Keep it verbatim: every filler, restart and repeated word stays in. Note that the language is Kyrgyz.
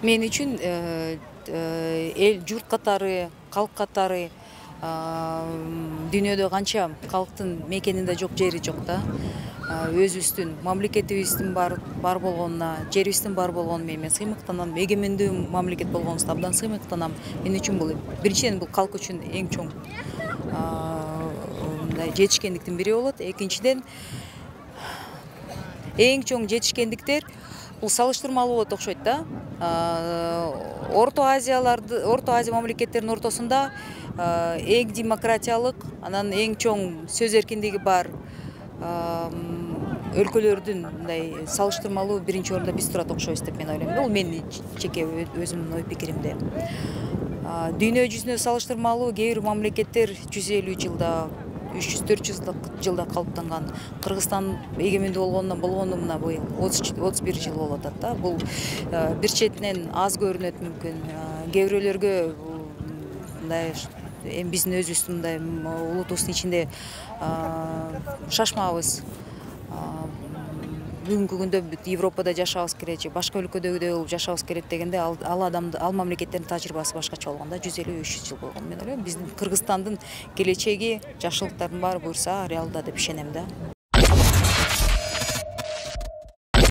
Мен үчүн эл журт катары, калк катары дүйнөдө канча калктын мекенинде жок жери жок да. Өзүбүздүн мамлекетибиздин бар бар болгонуна, жерибиздин бар болгонуна мен сыймыктанам. Эгемендүү мамлекет болгонубузда абдан сыймыктанам. Мен үчүн бул биринчиден бул калк үчүн эң чоң мындай жетишкендиктин бири болот. Экинчиден эң чоң жетишкендиктер бул салыштырмалуу болот окшойт да. Орто Азияларды, Орто Азия мамлекеттеринин ортосунда эң демократиялык, анан эң чоң сөз эркиндиги бар өлкөлөрдүн мындай салыштырмалуу биринчи орунда биз турат окшойбуз деп мен ойлойм. Бул менин жеке өзүмдүн ой пикиримде. Дүйнө жүзүнө салыштырмалуу кээ бир мамлекеттер жүз элүү жылда, үч жүз төрт жүз жылда калыптанган. Кыргызстан эгемендүү болгонунан болгону мына быйыл отуз бир жыл болуп атат да. Бул бир четинен аз көрүнөт мүмкүн. Кээ бирөөлөргө мындай эми биздин өзүбүздүн мындай улутубуздун ичинде шашмабыз. Бүгүнкү күндө Европада жашабыз керек же башка өлкөдөгүдөй болуп жашабыз керек дегенде ал адамды ал мамлекеттердин тажрыйбасы башкача болгон да. жүз элүү үч жүз жыл болгон. Мен ойлойм биздин Кыргызстандын келечеги, жакшылыктардын баары буюрса реалда деп ишенем да.